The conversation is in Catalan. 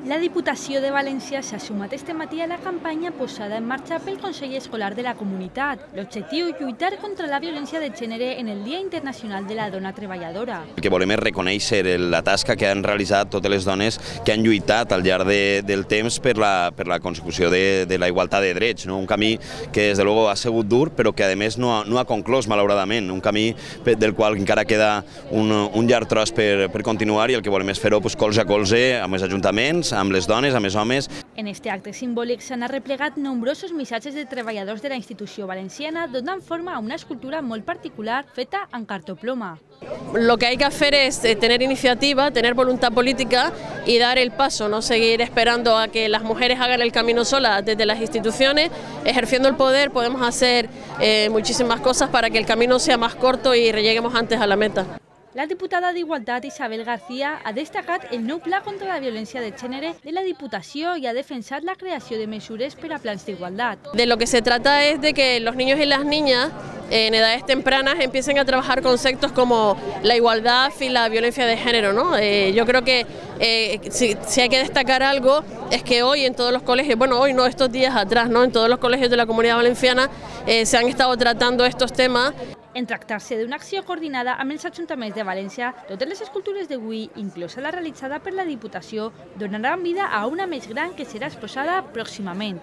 La Diputació de València s'ha sumat este matí a la campanya posada en marxa pel Consell Escolar de la Comunitat. L'objectiu, lluitar contra la violència de gènere en el Dia Internacional de la Dona Treballadora. El que volem és reconèixer la tasca que han realitzat totes les dones que han lluitat al llarg del temps per la consecució de la igualtat de drets. Un camí que, des de luego, ha sigut dur, però que, a més, no ha conclòs, malauradament. Un camí del qual encara queda un llarg tros per continuar, i el que volem és fer-ho colze a colze amb els ajuntaments, amb les dones, amb els homes. En este acte simbòlic s'han arreplegat nombrosos missatges de treballadors de la institució valenciana donant forma a una escultura molt particular feta en cartoploma. Lo que hay que hacer es tener iniciativa, tener voluntad política y dar el paso, no seguir esperando a que las mujeres hagan el camino solas. Desde las instituciones, ejerciendo el poder, podemos hacer muchísimas cosas para que el camino sea más corto y lleguemos antes a la meta. La diputada d'Igualtat, Isabel García, ha destacat el nou pla contra la violència de gènere de la Diputació i ha defensat la creació de mesures per a plans d'igualtat. De lo que se trata es de que los niños y las niñas en edades tempranas empiecen a trabajar conceptos como la igualdad y la violencia de género, ¿no? Yo creo que si hay que destacar algo es que hoy en todos los colegios, bueno, hoy no, estos días atrás, ¿no? En todos los colegios de la Comunidad Valenciana se han estado tratando estos temas. En tractar-se d'una acció coordinada amb els ajuntaments de València, totes les escultures d'avui, inclosa la realitzada per la Diputació, donaran vida a una més gran que serà exposada pròximament.